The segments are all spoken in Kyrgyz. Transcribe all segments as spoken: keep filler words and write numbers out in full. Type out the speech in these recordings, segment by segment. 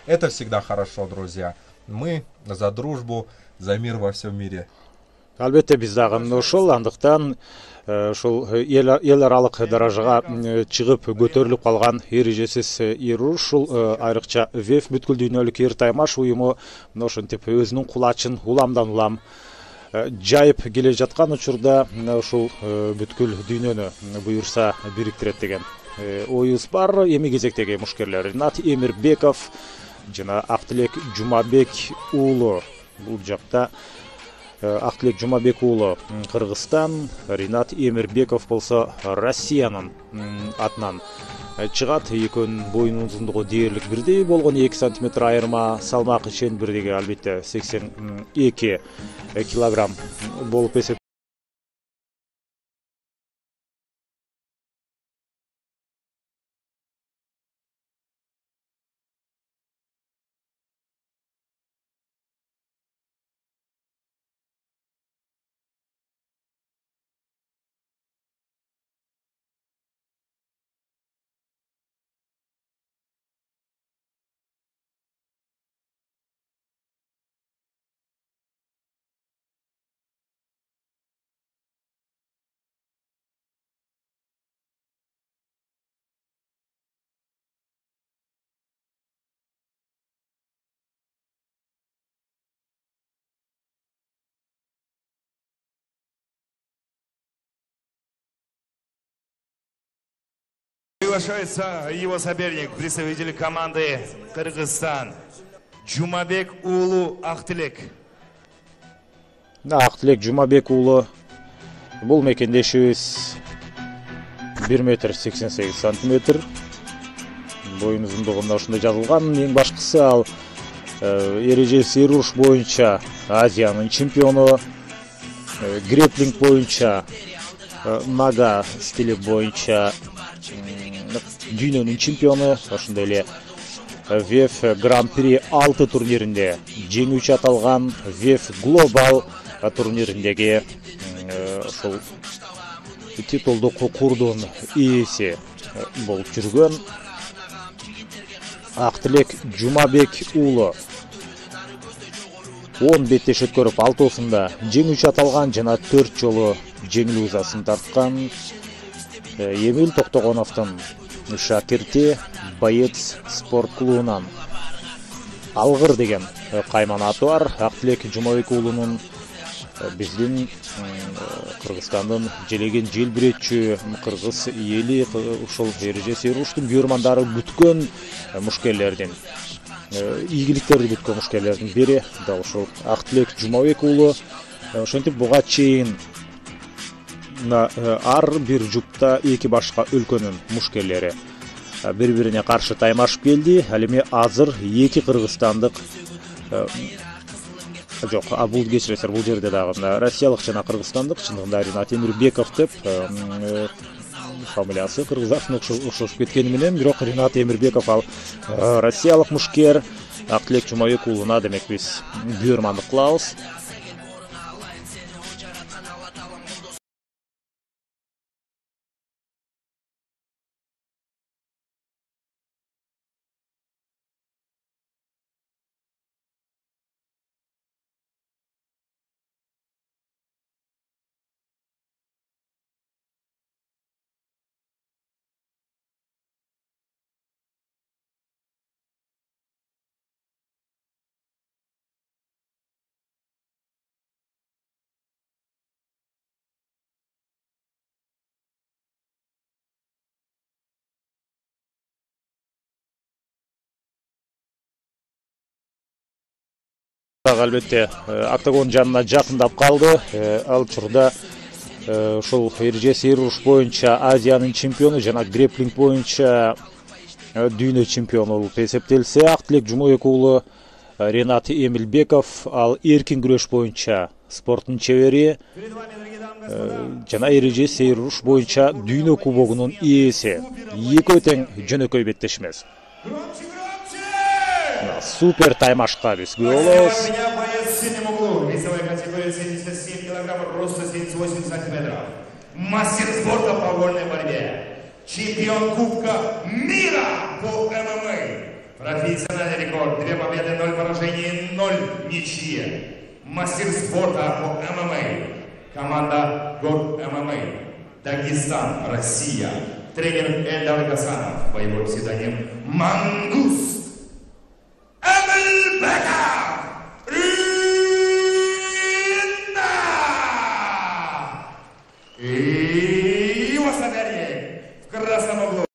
Это всегда хорошо, друзья. Мы за дружбу, за мир во всем мире. Албетте биз дагы ошол, андыктан ошол эл аралык даражага чыгып көтөрүлүп калган эрежесиз эр-уруш, ушул айрыкча ВЭФ бүткүл дүйнөлүк эр таймаш уюму ошентип өзүнүн кулачын уламдан улам жайып келе жаткан учурда ушул бүткүл дүйнөнү буюрса бириктирет деген оюбуз бар. Эми кезектеги мушкерлер Ринат Эмирбеков жана Актилек Жумабек уулу. Бул жакта Актилек Жумабек уулу Кыргызстан, Ринат Эмирбеков болсо Россиянын атынан чыгат. Экөөнүн боюнун узундугу дээрлик бирдей болгон, эки сантиметр айырма, салмак ишен бирдеги албетте сексен эки килограмм болуп эсептелет. Приглашается его соперник, представитель команды Кыргызстан, Жумабек уулу Актилек. Актилек Жумабек уулу бул мекендешибиз бир метр сексен сегиз сантиметр. Боюн узундугунда ошондой жазылган. Эң башкысы ал эрежеси эр-уруш боюнча Азиянын чемпиону, греплинг боюнча нага стили боюнча дүйнөнүн чемпиону, ошондой эле ВЭФ Гран-при алты турниринде жеңүүчү аталган ВЭФ Глобал турнириндеги ошол титулдук курдун ээси болуп жүргөн Актилек Жумабек уулу он беттеш өткөрүп алтоосунда жеңүүчү аталган жана төрт жолу жеңил узасын тарткан Эмил Токтогоновдун шакирти, боец спорт клубунан Алгыр деген кайман аты бар. Актилек Жумабек уулунун биздин Кыргызстандын желеген желбиретчү кыргыз эли ушул эрежеси эр-уруштун бүйөрмандары бүткөн мушкерлердин, ийгиликтерди бүткөн мушкерлердин бири дал ушул Актилек Жумабек уулу. Ошентип буга чейин ар бир жупта эки башка өлкөнүн мушкерлери бири-бирине каршы таймашып келди. Ал эми азыр эки кыргызстандык жок, а бул кечиресиздер, бул жерде дагы россиялык жана кыргызстандык, чындыгында Ринат Эмирбеков деп фамилиясы кыргыздардын окшошуп кеткени менен, бирок Ринат Эмирбеков ал россиялык мушкер. Актилек Жумабек уулуна демек биз бүйөрмандык кылабыз. Албетте октагон жанына жакындап калды. Ал учурда ушул эрежеси эр-уруш боюнча Азиянын чемпиону жана греплинг боюнча дүйнө чемпиону болуп эсептелсе, Актилек Жумабек уулу Ринат Эмирбеков ал эркин күрөш боюнча спорттун чебери жана эрежеси эр-уруш боюнча дүйнө кубогунун ээси. Экөө тең жөнөкөй беттеш эмес. Супер таймашка биз күбө болобуз. Мастер спорта по вольной борьбе, чемпион Кубка мира по ММА, Профессиональный рекорд. Две победы, ноль поражений, ноль ничьи. Мастер спорта по эм эм а. Команда ГОР эм эм а. Дагестан, Россия. Тренер Эльдар Гасанов. Боевой псевдоним Мангуст. Эмельбеков. И его соперник в красном углу.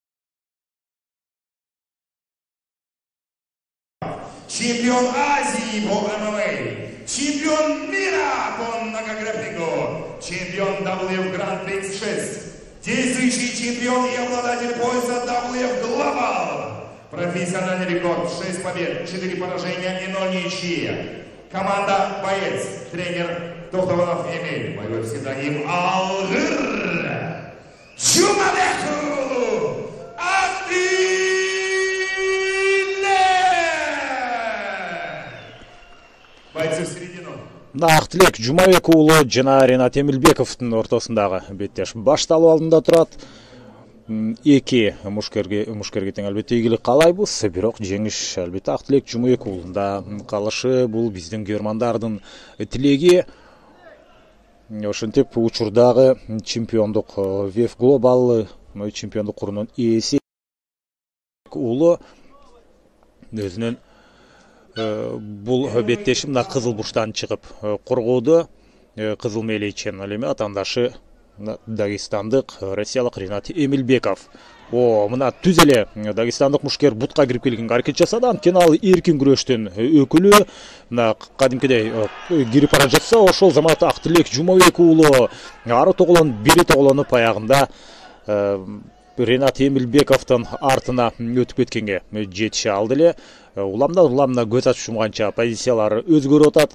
Чемпион Азии по эм эм а, чемпион мира по многогрэпплингу, чемпион дабл ю эф Grand Prix шесть, действующий чемпион и обладатель пояса дабл ю эф Global. Профессиональный рекорд, шесть побед, четыре поражения и ноль ничьи. Команда «Боец», тренер Тохтованов Эмиль, боевой псевдоним Алгыр. Чумабеку Ахтиле! Бойцы в середину. Актилек Жумабек уулу жана Ринат Эмилбековдун ортосундагы беттеш башталуу алдында турат. Эки мушкерге мушкерге тең албетте ийгилик каалайбыз, бирок жеңиш албетте Актилек Жумабек уулунда калышы. Бул биздин көрмандардын тилеги. Ошентип учурдагы чемпиондук ви эф Global чемпиондук курунун ээси уулу өзүнүн бул беттеши мына кызыл бурчтан чыгып коргоодо. Кызыл мээлейчен ал эми атаандашы дагестандык, россиялык Ринат Эмилбеков. О, мына түз эле дагестандык мушкер бутка кирип келгенге аракет жасады. Анткени ал эркин күрөштүн өкүлү. Мына кадимкидей кирип бара жатса, ошол заматта Актилек Жумабек уулу ары тоголон бери тоголонуп аягында Ринат Эмилбековдун артына өтүп кеткенге жетише алды эле. Уламдан уламна көз ачып жумганча позициялары өзгөрүп атат.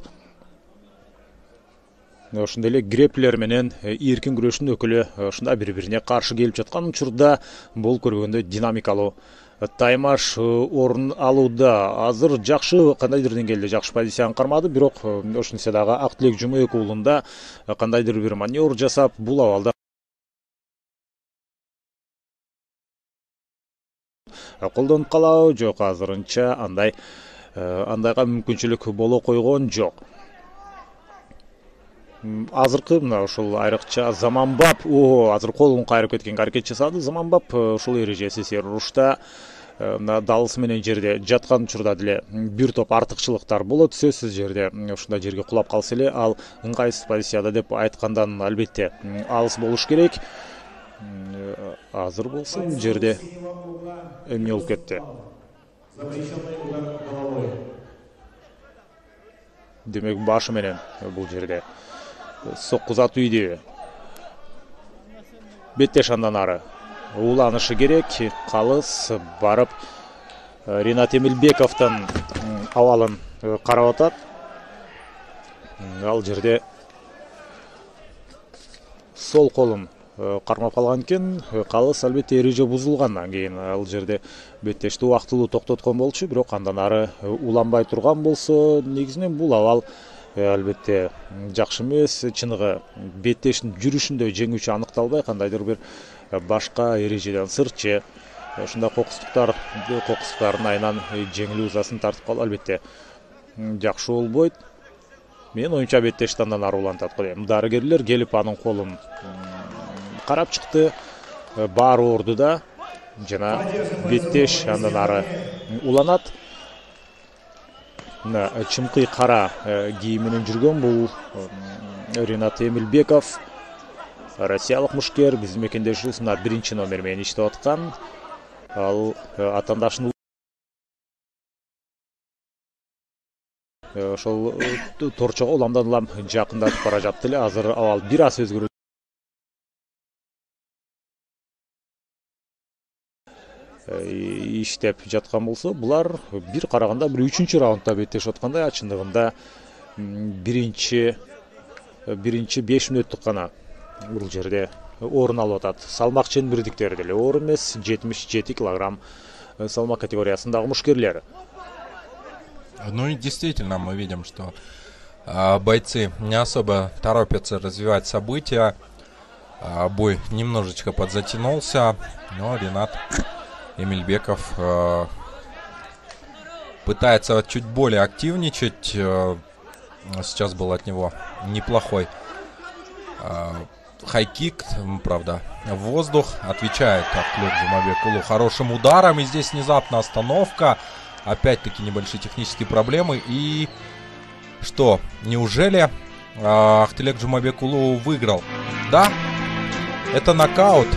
Ошондой эле греплер менен эркин күрөштүн өкүлү ушунда бири-бирине каршы келип жаткан учурда бул көргөндө динамикалуу таймаш орун алууда. Азыр жакшы, кандайдыр деңгээлде жакшы позицияны кармады, бирок ошентсе дагы Актилек Жумабек уулунда кандайдыр бир маневр жасап, бул абалда колдонуп калабы, жок, азырынча андай андайга мүмкүнчүлүк боло койгон жок. Азыркы мына ушул айрыкча Заманбап, о, азыр колун кайрып кеткенге аракет жасады. Заманбап ушул эрежеси урушта мына далысы менен жерде жаткан учурда деле бир топ артыкчылыктар болот. Сөзсүз жерде ушундай жерге кулап калса эле ал ыңгайсыз позицияда деп айткандан албетте алыс болуш керек. Азыр болсо бул жерде эмне болуп кетти? Демек башы менен бул жерде соккузатуу үйдү. Беттеш андан ары уланышы керек. Калыс барып Ринат Эмилбековдун абалын карап атат. Ал жерде сол колун кармап калган экен. Калыс албетте эреже бузулгандан кийин ал жерде беттешти убактылуу токтоткон болчу, бирок андан ары уланбай турган болсо, негизинен бул абал албетте жакшы эмес. Чыныгы беттештин жүрүшүндө жеңүүчү аныкталбай, кандайдыр бир башка эрежеден сыртчы ушундай кокустуктар кокустуктардын айынан жеңил узасын тартып калып албетте жакшы болбойт. Мен оюмча беттешти андан ары улантат го дейм. Дарыгерлер келип анын колун карап чыкты. Баары ордуда жана беттеш андан ары уланат. Мына чымкый кара кийим менен жүргөн бул Ринат Эмилбеков, россиялык мушкер, биздин мекендешибиз мына биринчи номер менен иштеп аткан. Ал атаандашын ошол торчого уламдан улам жакындатып бара жатты эле. Азыр абал бир аз өзгөрүп иштеп жаткан болсо, булар бир караганда бир үчүнчү раундда беттешип аткандай. Чындыгында биринчи биринчи беш мүнөттүк гана бул жерде орун алып атат. Салмак ченбирдиктери деле оор эмес, жетимиш жети килограмм салмак категориясындагы мушкерлер. Ну и действительно мы видим, что а, бойцы не особо торопятся развивать события. А, бой немножечко подзатянулся, но Ринат Эмилбеков э, пытается чуть более активничать. Сейчас был от него неплохой хайкик, правда, в воздух. Отвечает Ахтылек Жумабек-уулу хорошим ударом. И здесь внезапно остановка. Опять-таки небольшие технические проблемы. И что, неужели Ахтылек Жумабек-уулу выиграл? Да, это нокаут.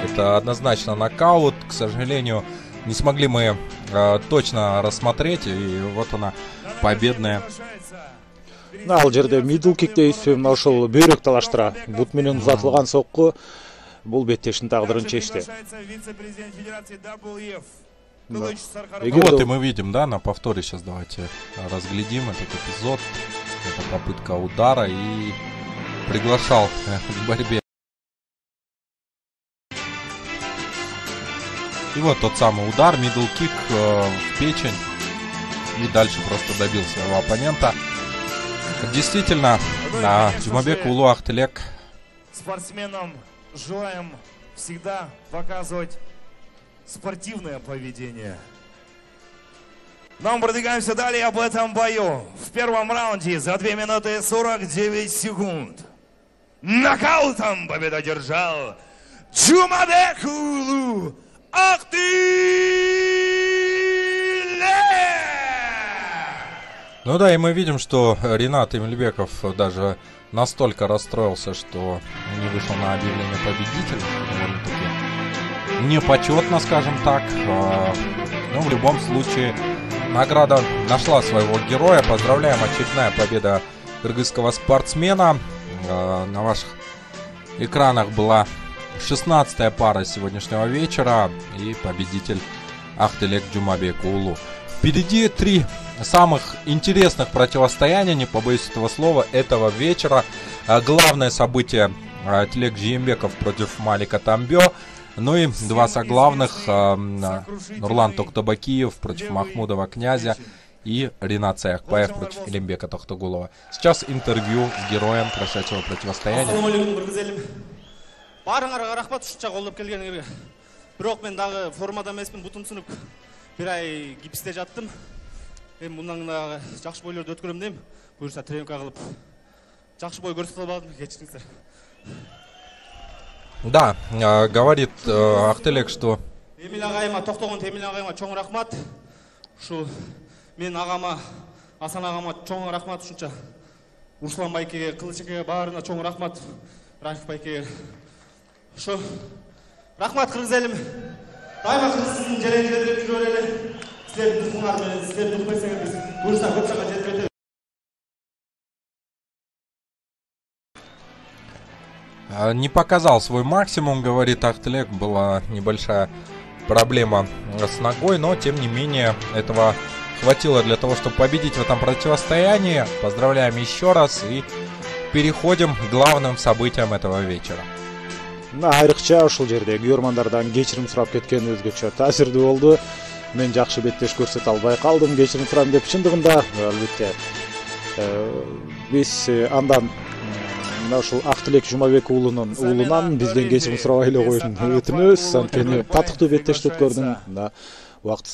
Это однозначно нокаут. К сожалению, не смогли мы э, точно рассмотреть. И вот она, победная. Ал жерде мидл кик дейт, мына ошол бөйрөк талаштыра. Бут менен узатылган сокку бул беттештин тагдырын чечти. Ну, вот и мы видим, да, на повторе сейчас давайте разглядим этот эпизод. Это попытка удара и приглашал к борьбе. И вот тот самый удар, мидл кик э, в печень. И дальше просто добил своего оппонента. Действительно, да, Жумабек-уулу Ахтылек. Спортсменам желаем всегда показывать спортивное поведение. Но мы продвигаемся далее об этом бою. В первом раунде за две минуты сорок девять секунд. Нокаутом победу одержал Жумабек-уулу Ахтылек. Ну да, и мы видим, что Ринат Эмильбеков даже настолько расстроился, что не вышел на объявление победителя. Довольно-таки непочетно, скажем так. Но в любом случае награда нашла своего героя. Поздравляем, очередная победа кыргызского спортсмена. На ваших экранах была шестнадцатая пара сегодняшнего вечера. И победитель Ахтылек Жумабек-уулу. Впереди три самых интересных противостояния, не побоюсь этого слова, этого вечера. Главное событие — Тилек Жийэмбеков против Малика Тамбё. Ну и два соглавных — Нурлан Токтобакиев против Махмудова Князя и Ринат Саякбаев против Элимбека Тохтогулова. Сейчас интервью с героем прошедшего противостояния. Барыңарга рахмат, ушунча колдоп келгениңерге. Бирок мен дагы формада эмесмин, бутум сынып бир ай гипсте жаттым. Эми мындан дагы жакшы бойлорду өткөрөм дейм. Буюрса тренировка кылып жакшы бой көрсөтө албадым, кечириңиздер. Да, э, говорит э, Ахтылек, что Эмил агайыма, токтогон Эмил агайыма чоң рахмат. Ушу мен агама, Асан агама чоң рахмат ушунча. Руслан байкеге, Кылычекеге баарына чоң рахмат. Рахиф байкеге. Ушу рахмат кыргыз элим. Дайыма кыргыздын желеңдерди жүрө эле. Силердин тукумуңар менен силердин укмесеңер биз буюрса көп жакка жетип кетебиз. Не показал свой максимум, говорит Ахтылек. Была небольшая проблема с ногой, но тем не менее этого хватило для того, чтобы победить в этом противостоянии. Поздравляем еще раз и переходим к главным событиям этого вечера. Айрыкча ушул жерде көрөрмандардан кечирим сурап кеткен өзгөчө таасирдүү болду. Мен жакшы беттеш көрсөтө албай калдым, кечирим сурайм деп. Чындыгында албетте биз андан мына ушул Ахтылек Жумабек-уулунун уулунан бизден кечирим сурабай эле коюшун өтүнөбүз. Анткени татыктуу беттештик көрдүм. Убакыт